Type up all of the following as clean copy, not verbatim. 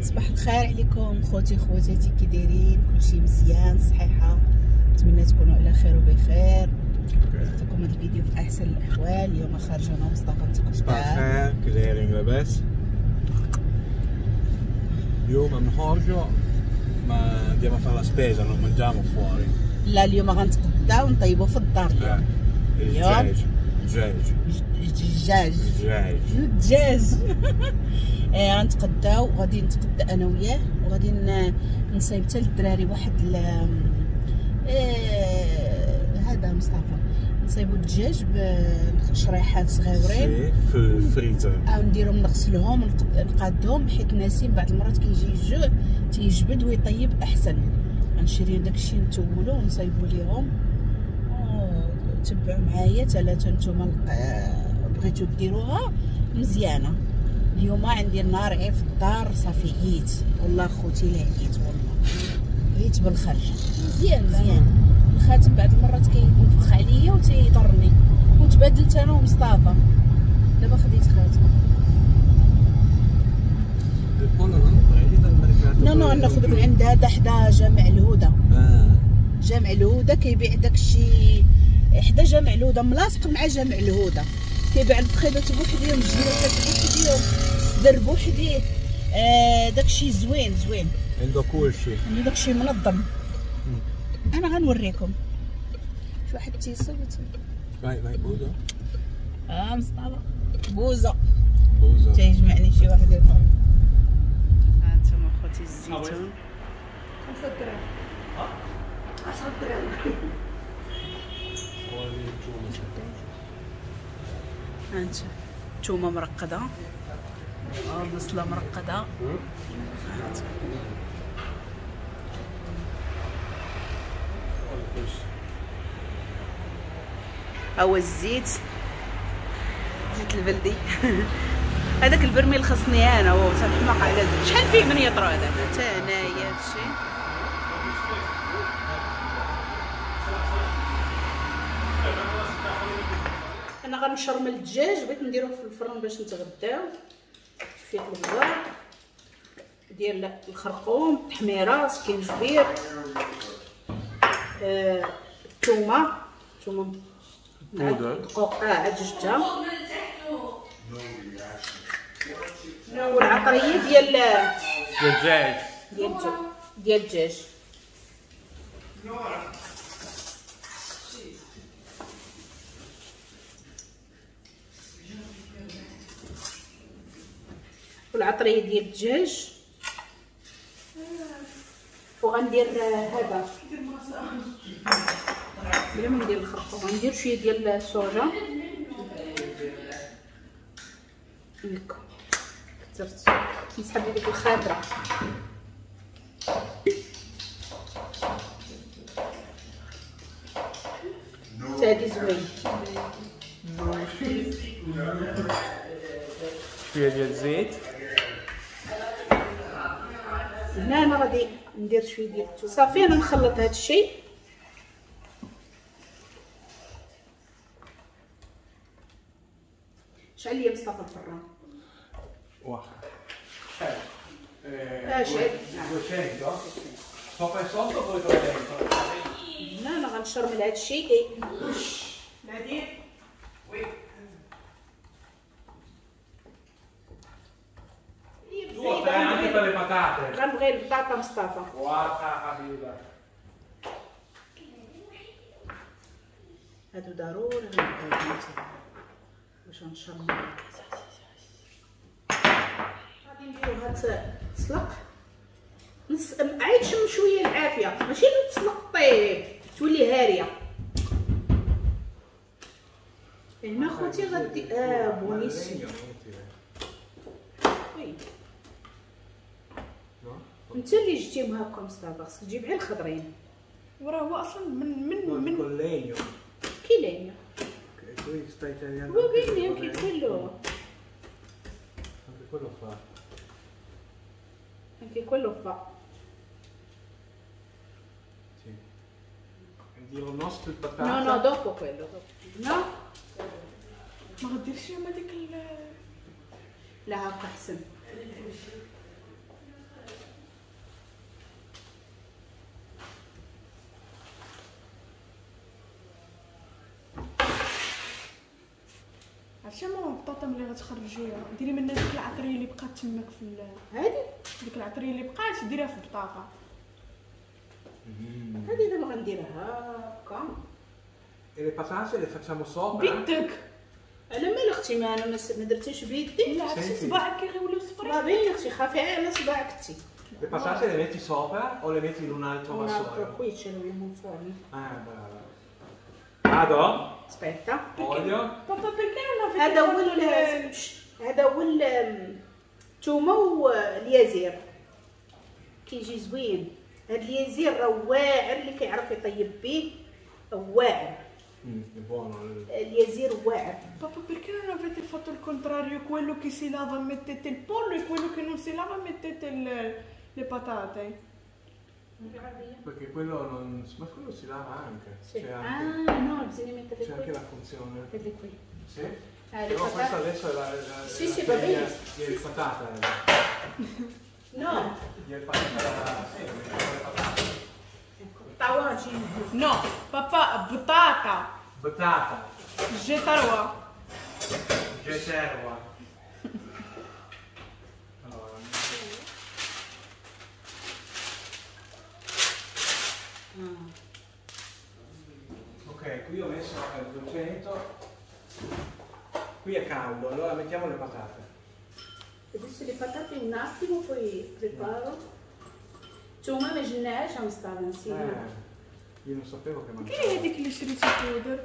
صباح الخير عليكم خوتي خواتاتي، كي دايرين؟ كلشي مزيان؟ صحيحه؟ نتمنى تكونوا على خير وبخير. نعطيكم هذا الفيديو في احسن الاحوال. اليوم خارجه انا ومصطفى نتقداو. صباح الخير، كي دايرين؟ لاباس؟ اليوم نخرجوا ma andiamo a fare la spesa, non mangiamo fuori. لا اليوم غنتقداو ونطيبو في الدار. اليوم الدجاج الدجاج الدجاج الدجاج. غنتقداو، غادي نتقدا انا وياه وغادي نصايب حتى للدراري واحد هذا مصطفى، نصايبو الدجاج بشريحات صغيورين في الفريزر، او نديرهم نغسلهم نقادهم، حيت ناسين بعض المرات كيجي الجوع تيجبد ويطيب احسن. غنشري داكشي نتولو ونصايبو ليهم. تبعوا معايا ثلاثة نتوما بغيتو ديروها مزيانه. اليوم عندي النهار غير في الدار، صافي عييت والله خوتي، لا عييت والله، عييت بالخرجه. مزيان مزيان الخاتم بعض المرات كينفخ عليا وتيضرني، وتبادلت انا ومصطفى. دابا خديت خاتم. no no ناخذ من عند هذا حدا جامع الهدى. جامع الهدى كيبيع داكشي حدا جامع الهدى، ملاصق مع جامع الهدى، كيبيع الفخيدات بوحديهم، الجيرات بوحديهم، الصدر بوحديه. داكشي زوين زوين، عنده كلشي، عنده داكشي منظم. انا غنوريكم شي واحد تيصوت. vai vai بوزه. مصطفى بوزه بوزه تيجمعني شي واحد يطلع. ها انتم اخوتي الزيتون 5 دراهم 10 دراهم. ها انت الثومه مرقده، البصله مرقده. ها هو الزيت، زيت البلدي. هذاك البرميل خصني انا، هو تنحماق على الزيت. شحال فيه من يطرو هذا؟ حتى هنايا هادشي. انا غنشرمل الدجاج، بغيت نديرو في الفرن باش نتغداو. شوية البزار ديال الخرقوم، التحميره، سكينجبير، الثومه، الثومه دقوق عاد جبتها، والعطريه ديال الدجاج ديال الدجاج. والعطريه ديال الدجاج. وغندير هذا بلا ما ندير الخرقوم، غندير شوية ديال الصوجه. هكا كثرت نسحب لي ديك الخاطرة. حتى هادي زوين. شوية ديال الزيت. هنا انا غادي ندير شوية ديال الثوم. صافي انا نخلط هذا الشيء. شعل لي مصطفى الفران. واخا شعل 200 sopra e sotto poi 300. هنا انا غنشرمل هذا الشيء. نادين oui غنبغي البطاطا مصطفى. واخا حبيبه، هادو ضروري غنبغيهم باش نشرمل. غادي نديروها تسلق نص، عاد شم شوية العافية، ماشي تسلق طيب تولي هاريه. هنا خوتي غادي buonissimo. oui انت اللي جبتيهم هاكا مصطفى، خصك تجيب غير الخضرين. وراه هو اصلا من من من legno. che legno Che va bene anche quello. Anche quello fa. Anche quello fa. Sì. Io nostro il patata. No, no, dopo quello. No? ما غديرش هما ديك لا هاكا احسن. عرفتي ماما البطاطا ملي غتخرجيها ديري منها ديك العطريه اللي بقات تماك في هادي، ديك العطريه اللي بقات ديريها في البطاطا. هادي دابا غنديرها هكا. E le patate le facciamo sopra؟ بيدك. انا مال اختي، ما انا ما درتيش بيدي. لا عرفتي صباعك كي غيوليو صفرين. راه باين اختي، خافي على صباعك انت. Le patate le metti sopra o le metti in un altro Un altro vassoio? qui ce l'abbiamo in forno. Ah, brava. Vado? Aspetta. Olio. Papà perché non avete هذا هو fatto هذا هو الثومه واليازير كيجي زوين. هاد اليازير راه واعر، اللي كيعرف يطيب به واعر. È buono. اليازير واعر. Papà perché non avete fatto il contrario? Quello che si lava mettete il pollo e quello che non si lava mettete le patate. Perché quello non... ma quello si lava anche. Sì. C'è anche... Ah no, bisogna metterle C'è qui. anche la funzione. Metterle qui. Sì? Ah, le Però patate. questa adesso è la Sì, la sì, va bene. Di patata. No. Di patata, sì, le patate. Ecco. طواجن. No, papà, patata. Patata. Getarwa. Geterwa. Allora. Ok, qui ho messo a 200. Qui è caldo, allora mettiamo le patate. Adesso le patate un attimo, poi preparo. الثومه ما جناهاش مصطفى نسيناها. Io non sapevo che mangiavo. كاين هذيك اللي شريتي بودر.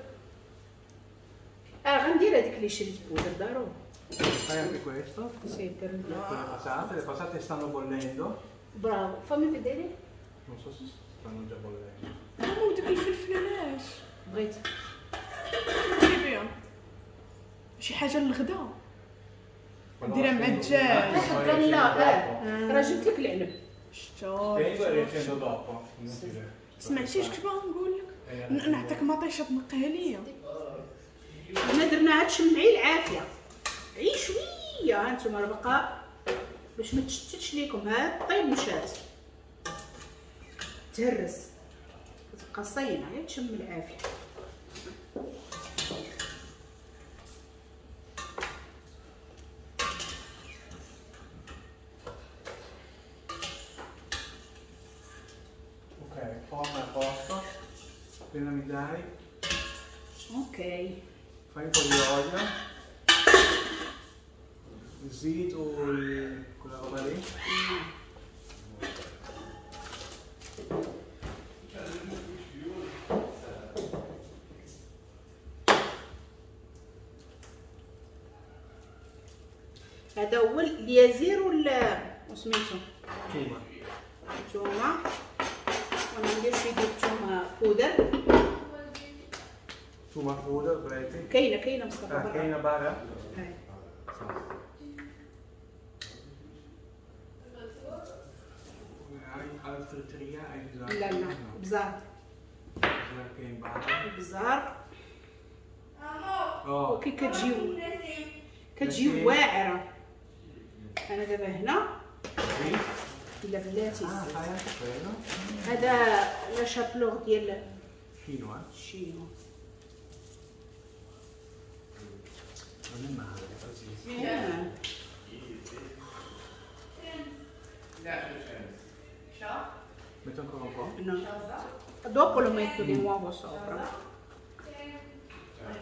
غندير هذيك اللي شريت بودر ضروري. Fai anche questo. Sì, per Con le patate, le patate stanno bollendo. Bravo, fammi vedere. Non so se stanno già bollendo. ماما وديك الفلفله علاش؟ بغيت ديري بيها شي حاجه للغدا ديرها مع الدجاج. لا لا راه جبت لك العنب. شتا Spengo e riaccendo dopo. Inutile. سمعتي اش كنت باغا نقول لك؟ نعطيك مطيشه تنقيها ليا. هنا درناها تشمعي العافيه عي شويه، ها انتم راه باقا باش ما تشتتش ليكم. ها طيب مشات تهرس كتبقى صينه غير تشم العافيه. Ok, forno a posto. Appena mi dai. Ok. Fai un po' di olio. Zito quella roba lì. هذا هو اليازير ولا وسميتو؟ الثومه. الثومه. وانا ندير شويه ديال الثومه بودر. ثومه بودر بغيتي؟ كاينه كاينه مصطفى برا. كاينه برا؟ Altri tria hai bisogno? لا لا بزار. كاين برا. بزار. وكي كتجي واعره. انا دابا هنا لا بلاتي. هذا la chapelure ديال شينوا. شينوا. Non è male, così. Metto ancora un po'? No. Dopo lo metto di nuovo sopra.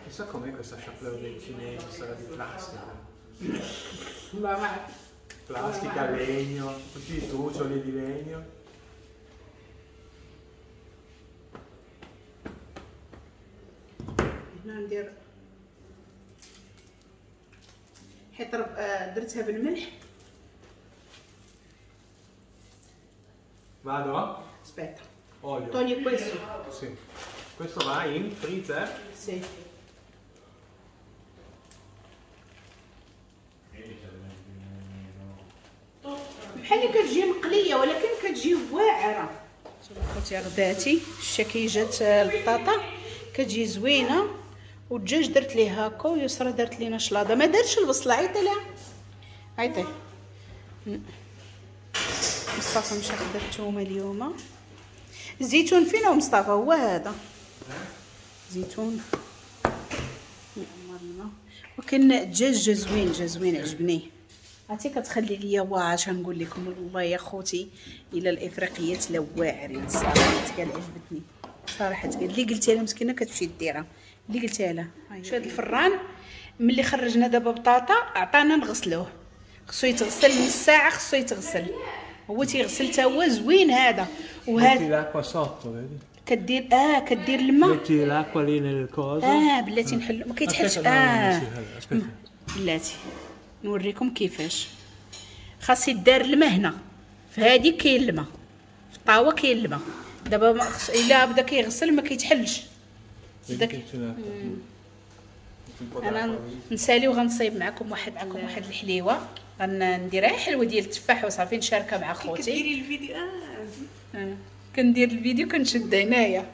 Chissà com'è questa chapelure dei cinesi, sarà di plastica. Ma va. Plastica, legno, tutti i trucioli di legno. هنا ندير حيت درتها بالملح. Vado? Aspetta. Olio. Togli questo. Sì. Questo va in freezer? Sì. بحال اللي كتجي مقليه ولكن كتجي واعره. شوفوا خوتي غداتي الشكي جات البطاطا كتجي زوينه، والدجاج درت ليه هكا، ويسرى درت لينا شلاضه، ما دارتش البصله. عيطي لها عيطي. مصطفى مشى خدا الثومه اليوم. الزيتون فين هو مصطفى؟ هو هذا زيتون. ولكن الدجاج جا زوين، جا زوين عجبني. عرفتي كتخلي ليا واش غنقول لكم، والله يا خوتي الى الافريقيات لا واعرين صراحة، كان عجبتني صراحة. اللي قلتها لها مسكينه كتمشي ديرها، اللي قلتها لها. شو هاد الفران ملي خرجنا دابا بطاطا عطانا نغسلوه، خصو يتغسل من الساعة، خصو يتغسل، هو تيغسل تا هو زوين هذا. وهذا كدير كدير الماء، metti l'acqua lì nel coso. بلاتي نحلو، ما كيتحلش. بلاتي نوريكم كيفاش خاص يدار الماء هنا. في هادي كاين الماء، في الطاوه كاين الماء. دابا الا بدا كيغسل ما كيتحلش. داك انا نسالي وغنصايب معكم واحد الحليوه، غنديرها حلوة ديال التفاح وصافي نشاركها مع خوتي. كديري الفيديو؟ كندير الفيديو كنشد هنايا.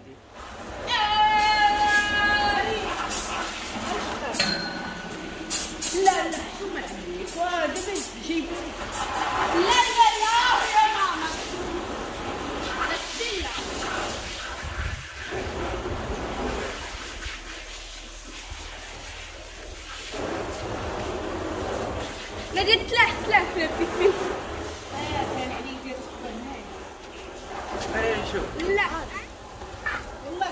لا لا حشومه عليك، دابا جايبه. لا لا لا يا ماما، لا لا تلاح تلاح في في. لا والله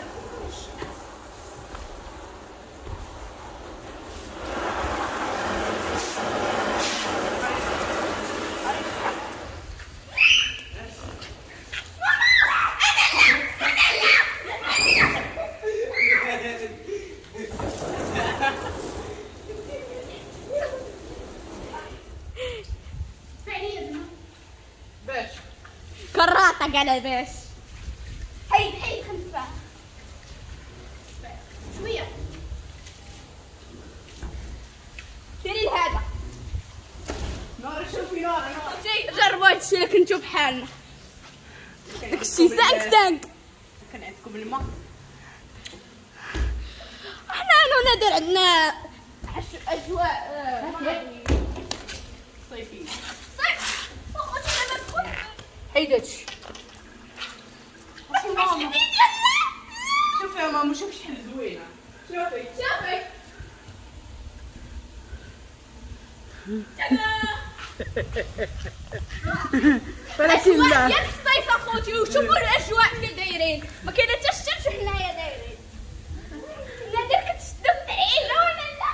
كراطة على باش. حيد حيد خلفها شوية. ديري هذا. نورا شوفي نورا نورا. جربوا هادشي الا كنتو بحالنا. داكشي 5 5. كان عندكم الماء. حنا انا ونادر عندنا اجواء صيفية. صيف. حيد هادشي. شوفي يا ماما، شوفي شحال زوينة. شوفي شوفي. ولكن لا ديال الصيف اخوتي، وشوفوا الاجواء كي دايرين، ما كاينه حتى الشمس وحنايا دايرين. نادر كتشدو في عينه ولا لا؟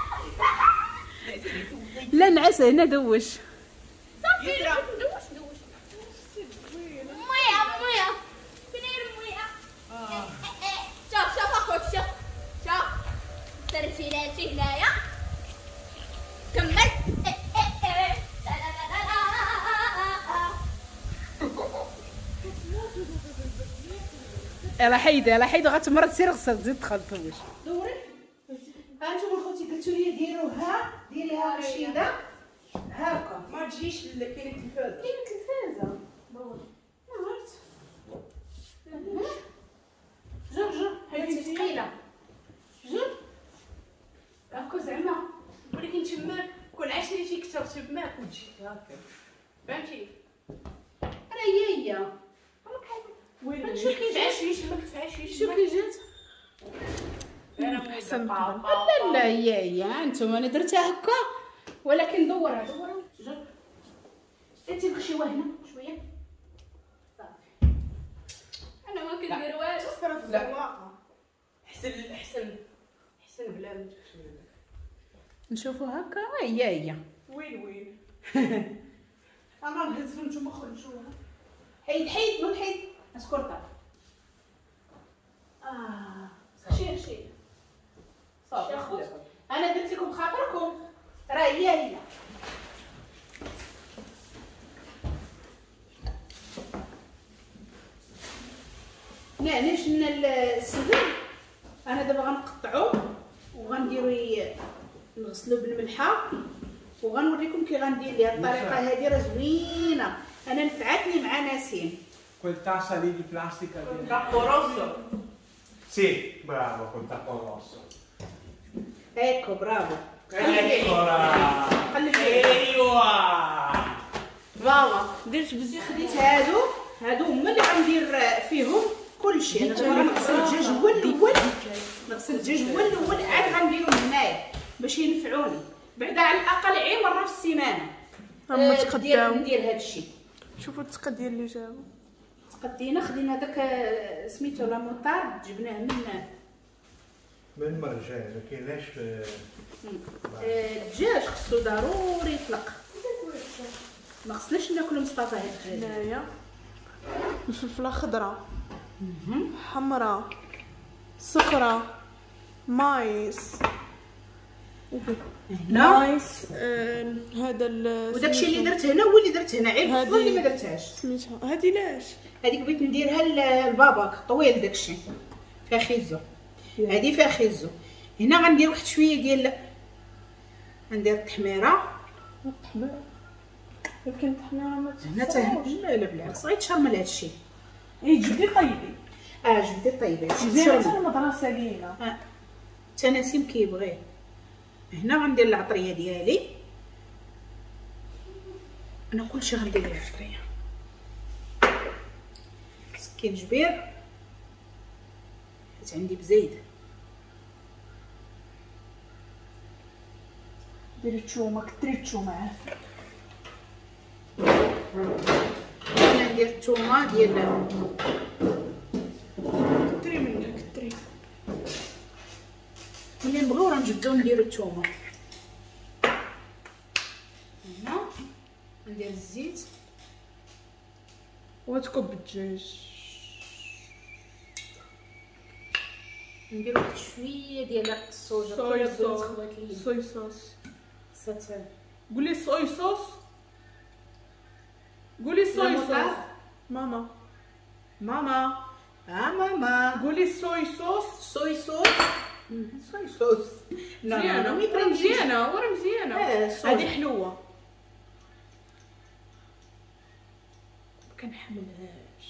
لا نعس هنا دوش. صافي دوش دوش. مويه مويه، فين هي المويه؟ شوف شوف اخوتي، شوف شوف سرتيلاتي هنايا. كمل. يلا حيدي يلا حيدي، غتمرض. سير غسل زيد دخل دوش. دوري هانتوما خوتي، قلتو لي ديروها، ديريها رشيده هاكا. ما تجيش كاينه التلفازه، كاينه التلفازه. ما عرفت. جر جر هادي ثقيلة. جر هاكا زعما، ولكن تماك كون عشريتي كثر تماك وتجي هاكا، فهمتي؟ راه هي هي. وين شو كي جات؟ شو كي جات؟ احسن. لا لا هي هي، انتم انا درتها هكا ولكن دورها دورها. جر انت الخشيوه هنا شوية صافي. انا ما كندير والو. لا احسن احسن احسن بلا ما تخشي. نشوفوا هكا هي هي. وين وين انا نهزو نتوما خرجوها. حيد حيد نوض حيد اسكرطه. خشي خشي صافي. انا درت لكم خاطركم، راه هي هي. يعني شلنا السدر، انا دابا غنقطعو وغنديرو نغسلو بالملحه وغنوريكم كي غندير ليها. الطريقة هذه راه زوينة، انا نفعتني مع نسيم. Quel tassa lì di plastica col tappo rosso. Sì, bravo, col tappo rosso. Ecco, bravo. Eccola. ايوا. ماما درت بزاف. خديت هادو هما اللي غندير فيهم كلشي. انا دابا غنغسل الدجاج هو الاول، نغسل الدجاج هو الاول عاد غنديرو هنايا. باش ينفعوني بعدا على الاقل عي مرة في السيمانة. هما تقداو ندير هذا الشيء. شوفوا التقديه اللي جابوا. تقدينا خدينا داك سميتو la moutarde جبناه من مرجان ما كايناش. الدجاج خصو ضروري يطلق، ما خصناش ناكلو مصطفى هاد الدجاج. هنايا الفلفله خضراء حمراء صفراء maïs maïs هذا وداكشي اللي درت هنا هو اللي درت هنا، غير الفلفله اللي ما درتهاش. سميتها هادي لاش؟ هذيك بغيت نديرها لباباك طويل داكشي فيها خيزو، هادي فيها خيزو. هنا غندير واحد شوية ديال، غندير التحميره. التحميره يمكن التحميره ما هنا حتى لا لا بالعكس غيتشرمل هادشي. اي جبدي طيبي. جبدي طيبي مزيان حتى المدرسة لينا. حتى نسيم كيبغيه. هنا غندير العطريه ديالي، انا كلشي غندير ليه العطريه. سكينجبير حيت عندي بزايد. ديري الثومه، كثري الثومه عافاك. انا ندير الثومه ديال كثري منها كثري. ملي نبغيو راه نجبدو نديرو الثومه. هنا ندير الزيت وتكب الدجاج. ندير واحد شوية ديال الصوجه. soya sauce، soya sauce. قولي soya sauce، قولي soya sauce ماما. ماما ماما قولي soya sauce. soya sauce، soya sauce. مزيانه مزيانه ورا مزيانه. هذه حلوة ما كنحملهاش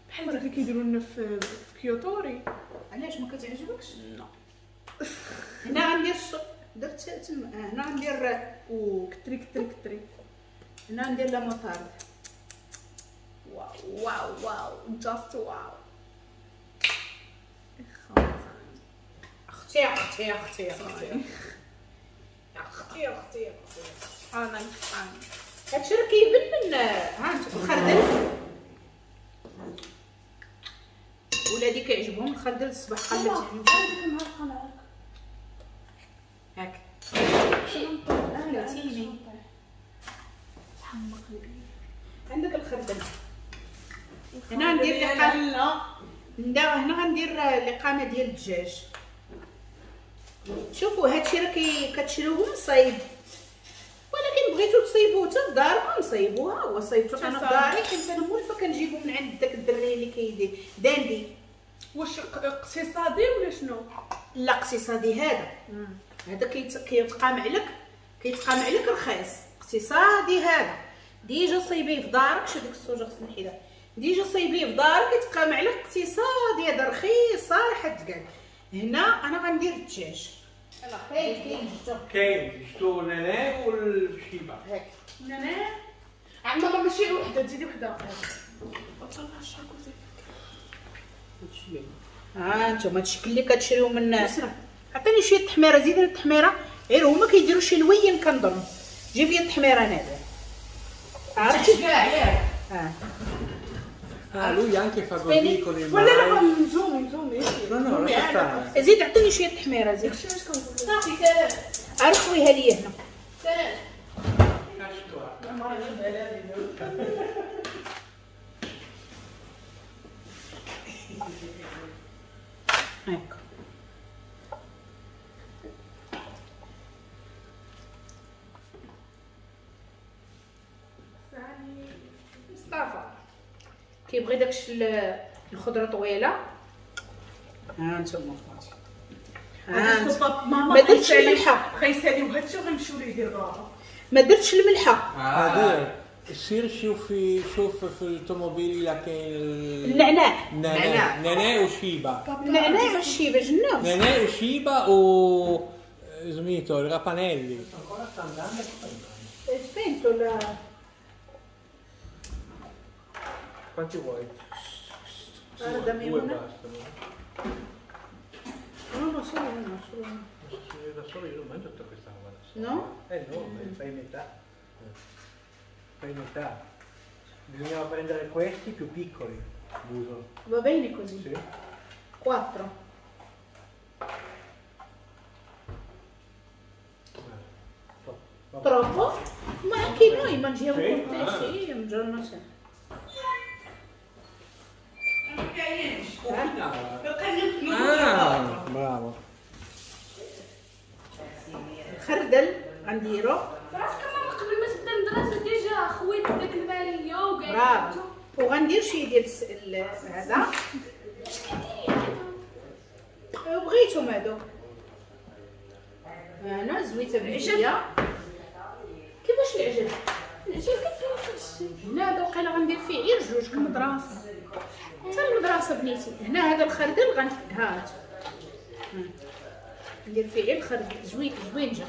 بحال ديك اللي كيديروا لنا في كيوتوري. علاش ما كتعجبكش؟ لا. هنا غندير درت تما. هنا غندير وكثري كثري كثري. هنا ندير la moutarde. واو واو واو just wow. اختي اختي اختي اختي اختي اختي انا هادشي راه كيبان من ها انت الخردل. ولادي كيعجبهم الخردل الصباح قلبت هاك خلعتيني. عندك الخردل. هنا ندير لقامه، هنا غندير لقامه ديال الدجاج. شوفوا هادشي راه كتشريوه مصايب، ولكن بغيتو تصايبوه حتى في داركم صايبوها. هو صايبتو انا في داري، كنت انا مولفه كنجيبو من عند داك الدري اللي كيدير داندي. واش اقتصادي ولا شنو؟ لا اقتصادي هذا. هذا كيتقام عليك، كيتقام عليك رخيص. اقتصادي هذا déjà صايبيه في دارك. شو ديك الصوجه خصني نحيدها. déjà صايبيه في دارك يتقام عليك اقتصادي، هذا رخيص صراحة تقال. هنا انا غندير الدجاج. كاين كاين جبتو، كاين جبتو نعناع والشيبه. هاك نعناع عند ماما ماشي وحده، تزيدي وحده. طلع الشاكوزي. ها انتم هادشي اللي كتشريو من عطيني شوية التحميره، زيدني التحميره. غير هما كيديروا شي لوين كنظن. جيب لي التحميره نادر. عرفتي كاع ياك. Lui anche fa così con il ولا لا مزومي مزومي. No no lascia stare. زيد عطيني شوية التحميره زيد. صافي عرف خويها لي هنا. هاكا مصطفى كيبغي داكشي الخضرة طويلة. ها انتم اخواتي ماما ما درتش الملحة، غيساليو هادشي وغنمشيو ليه يدير بابا. ما درتش الملحة. هذا سير شوفي شوف في الطوموبيل الا كاين النعناع. النعناع النعناع والشيبه. النعناع والشيبه جنة. النعناع والشيبه و سميتو ال rapanelli. Spento la. Quanti vuoi? Guarda, Due bastano. No, No, solo uno, solo uno. Se da solo io non mangio tutta questa roba da solo. No? No, fai metà. Fai metà. Bisognava prendere questi più piccoli, buso. Va bene così? Sì. 4. Troppo? Ma anche noi mangiamo sì? Con te, sì, un giorno sì. Bravo. خردل غنديرو. راسك ماما قبل ما تبدا المدرسة déjà خويت داك الماريو وكاع. برافو. وغندير شوية ديال هذا. اش كديري هذا؟ بغيتهم هادو. انا زويته بالعجيه. كيفاش العجل؟ العجل كدير في الشيء. هنا هذا وقيلا غندير فيه غير جوج المدرسة. حتى المدرسة بنيتي. هنا هذا الخردل هات ندير فيه غير الخردل زوين زوين جا.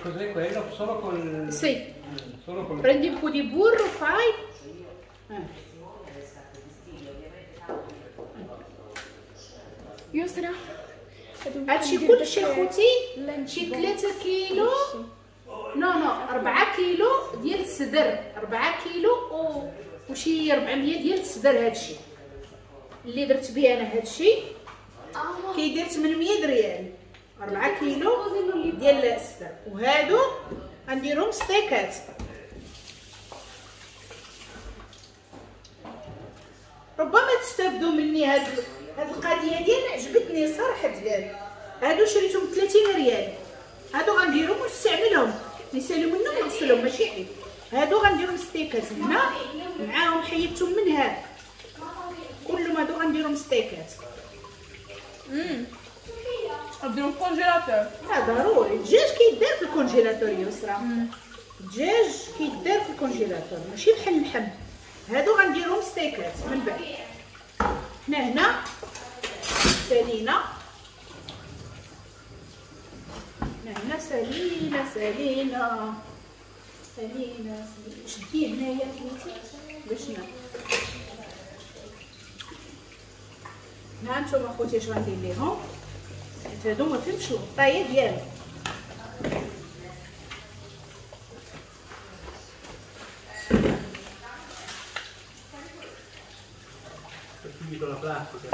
Cos'è quello? Solo col Sì. Solo col Prendi un po' di burro, fai. يسرا هادشي كلشي خوتي شي 3 كيلو no no 4 كيلو ديال الصدر 4 كيلو وشي 400 ديال الصدر. هادشي اللي درت به انا هادشي كيدير 800 ريال 4 كيلو ديال الصدر. وهادو غنديرهم ستيكات. ربما تستافدوا مني هاد القضية ديال عجبتني صراحة. ديال هادو شريتهم 30 ريال. هادو غنديرهم ونستعملهم نسالو منهم ونغسلهم ماشي عيب. هادو غنديرهم ستيكات هنا معاهم حيدتهم من هذا كلهم. هادو غنديرهم ستيكات. نديرهم congélateur. ضروري الدجاج كيدار في ال congélateur يسرا. الدجاج كيدار في ال congélateur ماشي بحال اللحم. هادو غنديرهم ستيكات من بعد. حنا هنا سالينا. حنا هنا سالينا سالينا سالينا. شدي هنايا بنيتي باش هنا نتوما خوتي اش غندير ليهم حيت هادو ما فيهمش الغطايه ديالهم. La plastica.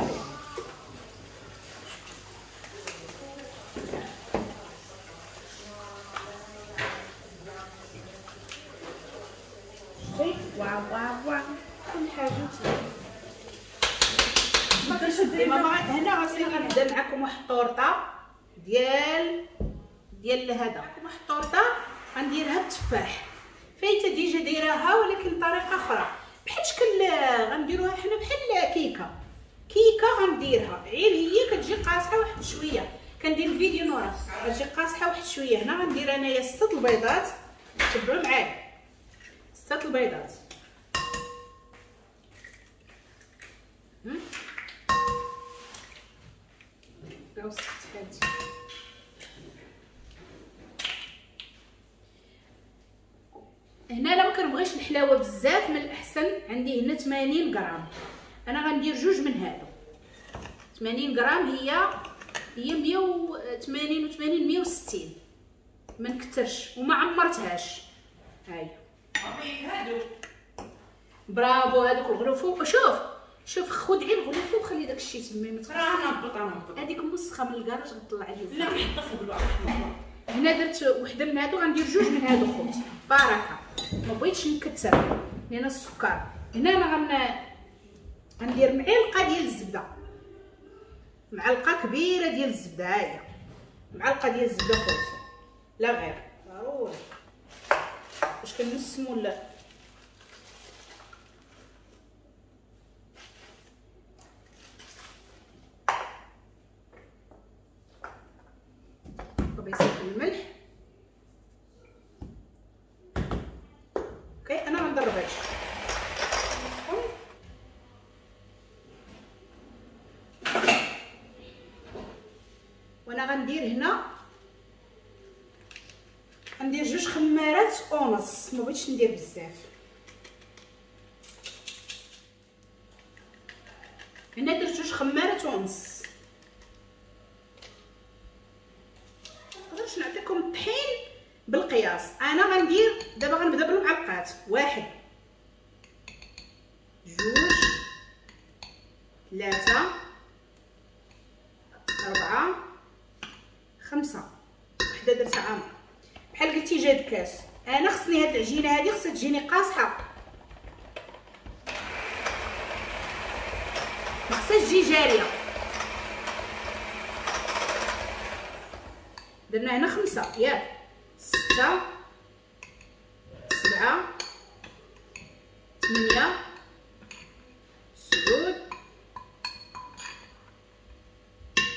واو واو واو كل حاجة ما كنشدي ماما. هنا غاسي غنبدا معكم واحد الطورطه ديال هذا. واحد الطورطه غنديرها بالتفاح. فايته déjà دايراها ولكن بطريقة اخرى بحال شكل غنديروها حنا بحال كيكة. كيكة غنديرها غير هي كتجي قاصحة واحد شوية. كندير الفيديو نورا كتجي قاصحة واحد شوية. هنا غندير انايا 6 البيضات. تبعوا معايا 6 البيضات. هنا لا ما كنبغيش الحلاوة بزاف من الاحسن عندي هنا 80 غرام. انا غندير جوج من هادو. 80 غرام هي 180 و80 160 ما نكثرش وما عمرتهاش. هاي برافو هادوك الغلوفو. شوف شوف خذ غير الغلوفو وخلي داكشي تما ما راه نهبط. هذيك مسخه من الكراج غطلع عليا. لا نحطها فوق الواحد. هنا درت وحده من هادو غندير جوج من هادو خوتي بركة. ما بغيتش نكثر لان السكر. هنا انا غندير معلقه ديال الزبدة. معلقه كبيرة ديال الزبدة. ها هي معلقه ديال الزبدة خوتي لا غير ضروري باش كنسمو. لا قبيصه الملح. okay انا غنضرب هادشي. وانا غندير هنا غندير 2 خمارات ونص. ما بغيتش ندير بزاف. هنا درت 2 خمارات ونص. دابا غنبدا بالمعلقات. 1 2 3 4 5. وحده درتها عامرة بحال قلتي جاد كاس. انا خصني هاد العجينة هادي خصها تجيني قاصحة، ما خصهاش تجي جارية. درنا هنا 5 ياك، 6 7 8 9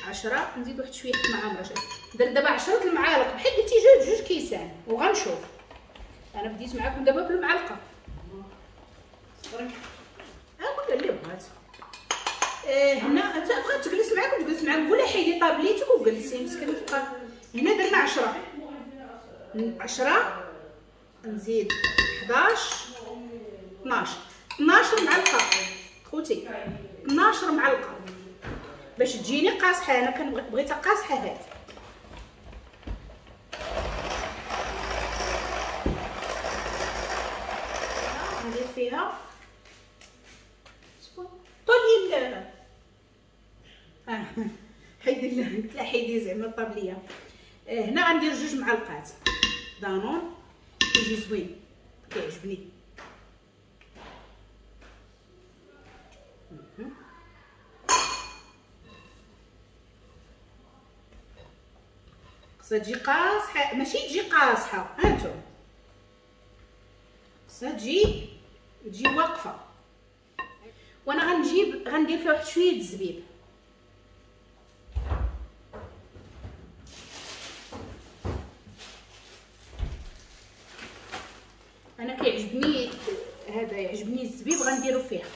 10. نزيد واحد شوية حيت ما عامراش. درت دابا 10 المعالق بحال قلتي جوج كيسان. وغنشوف انا بديت معاكم دابا بالمعلقه. صبري قول اللي بغات. هنا انت بغات تجلس معاك وتجلس معاك، قولها حيدي طابليتك وجلسي مسكينه تبقى. هنا درنا 10 10 نزيد 11 12 12 معلقه خوتي، 12 معلقه باش تجيني قاصحة. انا كنبغيتها قاصحة هادي. ندير فيها طولي حيدي قلت لها حيدي زعما الطابليه. هنا غندير 2 معلقات دانون، كيجي زوين كيعجبني. خصها تجي قاصحة، ماشي تجي قاصحة، هانتوما خصها تجي واقفة. وانا غنجيب غندير فيها واحد شوية الزبيب. انا كيعجبني هذا، يعجبني الزبيب غنديرو فيها.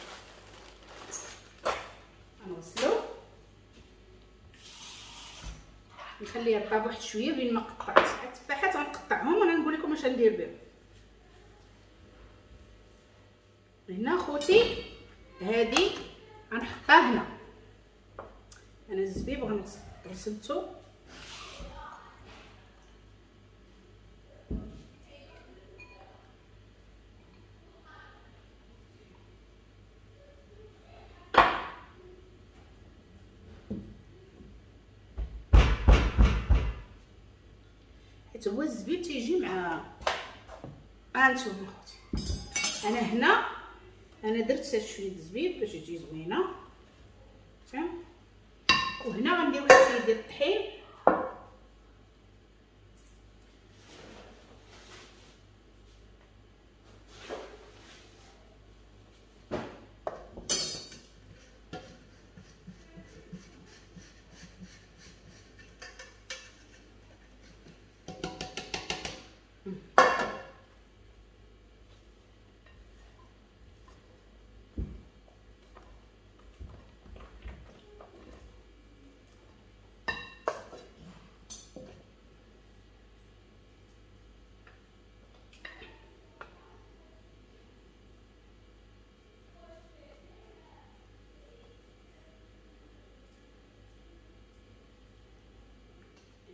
غنغسلو نخليها طاب واحد شوية بين ما قطعت التفاحات. غنقطعهم وانا نقول لكم اش غندير بهم. هنا خوتي هادي غنحطها هنا. انا الزبيب غنغسلتو. حيت هو الزبيب تيجي مع هانتوما خوتي. انا هنا انا درت شوية الزبيب باش تجي زوينة، فهم. وهنا غندير واحد شوية ديال الطحين.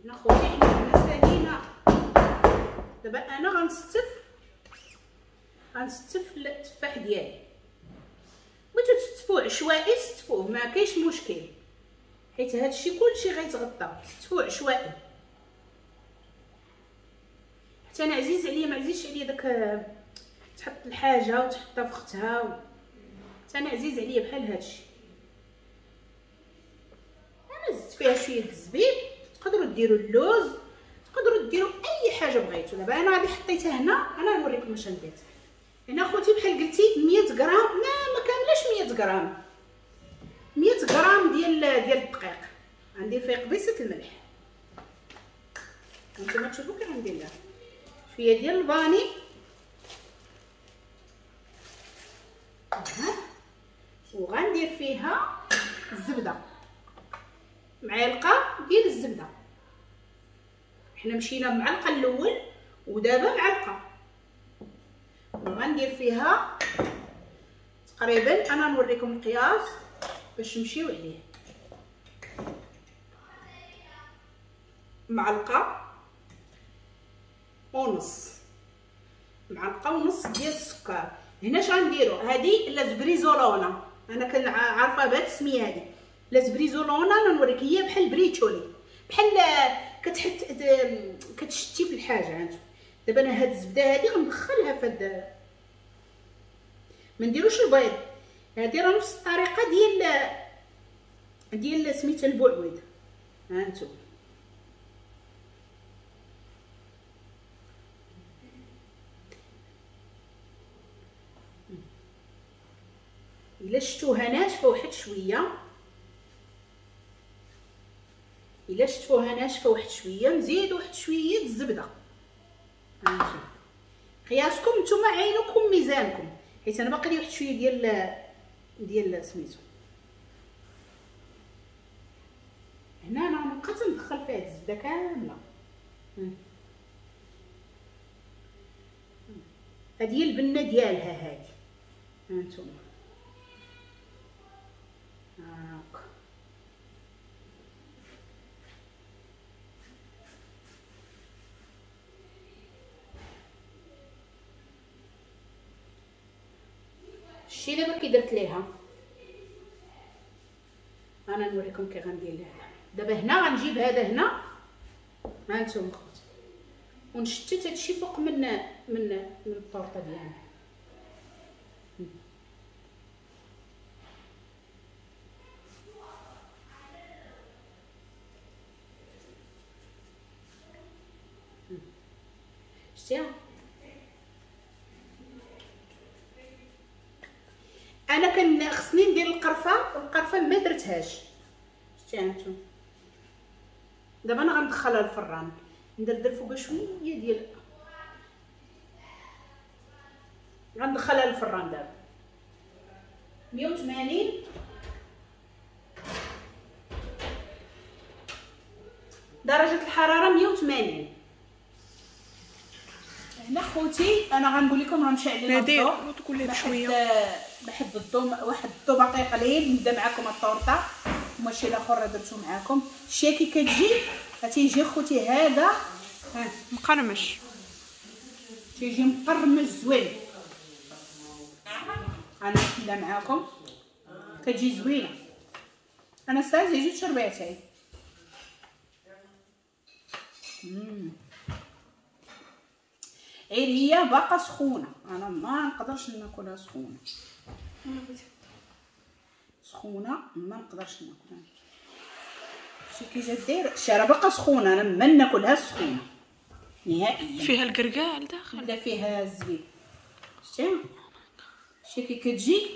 هنا خوتي حنا سالينا. دابا انا غنستف التفاح ديالي. بغيتو تستفوه عشوائي ستفوه، ما كاينش مشكل، حيت هادشي كلشي غيتغطى. ستفوه عشوائي. حتى انا عزيز عليا، ما عزيزش عليا داك تحط الحاجة وتحطها في اختها. حتى انا عزيز عليا بحال هادشي. انا زدت فيها شوية الزبيب، تقدروا ديروا اللوز، تقدروا ديروا اي حاجة بغيتو. دابا انا غادي حطيتها هنا، انا نوريكم اش ندير هنا خوتي. بحال قلتي 100 غرام، ما كاملاش 100 غرام، 100 غرام ديال الدقيق. غندير فيه قبيصه الملح، نتوما تشوفوا كي غندير لها شوية ديال الفاني. وغندير فيها الزبدة، معلقه ديال الزبدة. حنا مشينا بمعلقه الاول ودابا معلقه. وغندير فيها تقريبا، انا نوريكم القياس باش نمشيو عليه، معلقه ونص، معلقه ونص ديال السكر. هنا اش غنديرو؟ هادي la sbrisolona، انا كنعرفها بهاد السمية هادي la sbrisolona. انا نوريك، هي بحال briciole، بحال كتحت كتشتي في الحاجة. هانتو دابا انا هاد الزبدة هادي غندخلها في هاد، ما نديروش البيض، هادي راه نفس الطريقة ديال سميتها البوعويد. هانتو الا شفتوها ناشفة واحد شوية، الا شفتوها ناشفة واحد شوية نزيد واحد شوية الزبدة. هانتو قياسكم نتوما، عينكم ميزانكم، حيت انا باقي لي واحد شوية ديال سميتو. هنا انا غنبقى تندخل فيها الزبدة كاملة. هذه هي البنه ديالها هذه. هانتوما هاكا شتي دابا كي درت ليها، انا نوريكم كي غندير ليها دابا. هنا غنجيب هذا هنا، هانتوما خوتي، ونشتت هادشي فوق من من من الطورطه ديالنا. شتيها؟ انا كان خصني ندير القرفه، والقرفه ما درتهاش. شتيها انتم؟ دابا انا غندخلها الفران، ندردر فوق شوية ديال، غندخلها الفران دابا 180 درجه الحرارة 180. هنا خوتي انا غنقول لكم راه مشى علينا الضوء، بحد الضوء، واحد الضوء باقي قليل. نبدا معكم الطورطه وماشي الاخر درتو معكم. الشي كي كتجي تيجي خوتي هذا ها مقرمش، تيجي مقرمش زوين. انا نبدا معكم كتجي زوينة. انا ساعة جوج شرباتين. غير هي باقا سخونة، انا ما نقدرش ناكلها سخونة، سخونة ما نقدرش ناكلها. شتي كي جات دايرة، شتي راه باقا سخونة، انا ما ناكلها سخونة نهائيا. فيها الكركاع لداخل، لا فيها الزبيب. شتي شتي كي كتجي،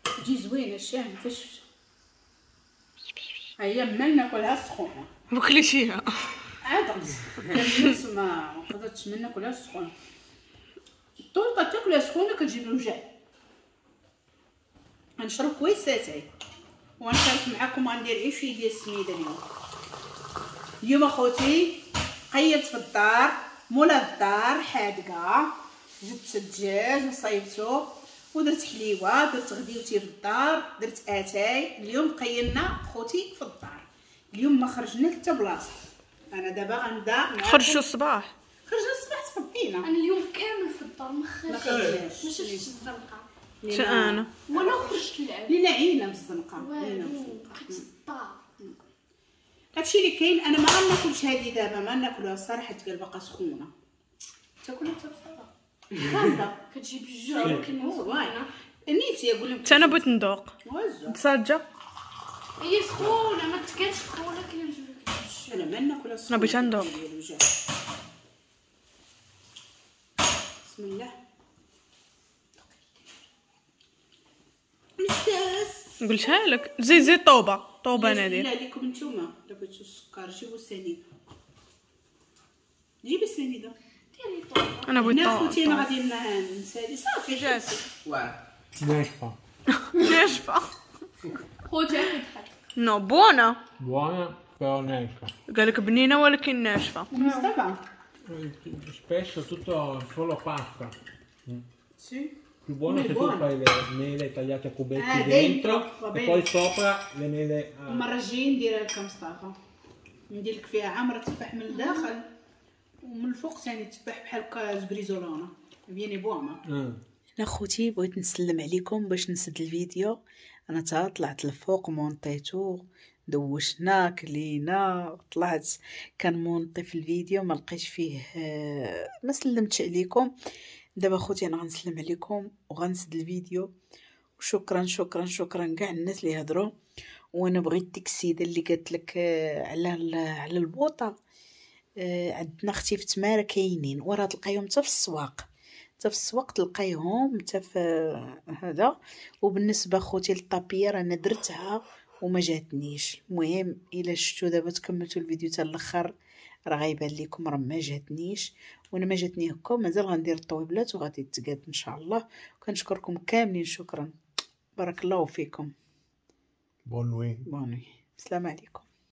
تجي زوينة. شتي فاش هي ما ناكلها سخونة، وكليتيها عاد ما قدرتش من ناكلها سخونة. الطورطه تاكلها سخونة كتجيب الوجع. غنشرب كويس اتاي ونشارك معكم. غندير غير شوية ديال السميده اليوم. اليوم اخوتي قيلت في الدار، مولا الدار حادقه، جبت الدجاج وصايبته ودرت حليوه، درت غديوتي في الدار، درت اتاي. اليوم قيلنا خوتي في الدار، اليوم ما خرجنا حتى بلاصة. انا دابا غنبدا. خرجتوا الصباح؟ خرجنا الصباح تخبينا. انا اليوم كامل في الدار ما خرجتش، ما شفتش الزنقة. حتى انا ولا خرجت نلعب، لينا عينا من الزنقة، لينا بقيت الدار. هادشي اللي كاين. انا ما غناكلش هادي دابا، ما ناكلوها الصراحة، تقال باقا سخونة. تاكلها حتى بصراحة كاملة كتجيب الجوع ولكن زوينة. نيتي اقول لهم حتى انا بغيت ندوق تصاجه. هي سخونة ما تكانش سخونة كنجيب. انا ما ناكلها سخونة، انا بغيت ندوق. بسم الله. مستاس قلتها لك، زيد زيد طوبة طوبة نادير. لا لكم نتوما الا بغيتو السكر جيبوا السنيده، جيبي السنيده ديري طوبة. انا بغيت طوبة. خوتي انا غادي نسالي صافي. جات ناشفة ناشفة خوتي كضحك. no buona buona però ناشفة. قال لك بنينه ولكن ناشفة. مصطفى spesso tutto solo pasta. Sì. Più buono se tu fai le mele tagliate a cubetti dentro e poi sopra le mele. المرة الجاية نديرها لك مصطفى، ندير لك فيها عامرة تفاح من الداخل ومن الفوق ثاني تفاح بحال هكا sbrisolona viene buona. Mm. انا خوتي بغيت نسلم عليكم باش نسد الفيديو. انا تا طلعت الفوق مونطيتو، دوشنا كلينا، طلعت كنمونطي في الفيديو ما لقيتش فيه، ما سلمتش عليكم. دابا خوتي انا غنسلم عليكم وغنسد الفيديو. وشكرا شكرا شكرا كاع الناس اللي هضروا. وانا بغيت ديك السيدة اللي قالت لك على البوطه، عندنا اختي في تماره كاينين، وراه تلقايهم حتى في السواق، حتى في السواق تلقايهم حتى في هذا. وبالنسبة خوتي للطابيه رانا درتها وما جاتنيش. المهم الا شفتوا دابا تكملتوا الفيديو حتى الاخر راه غيبان لكم راه ما جاتنيش، وانا ما جاتني هكا مازال غندير الطويبلات وغادي تقاد ان شاء الله. وكنشكركم كاملين، شكرا، بارك الله فيكم. Bonne nuit. Bonne nuit، السلام عليكم.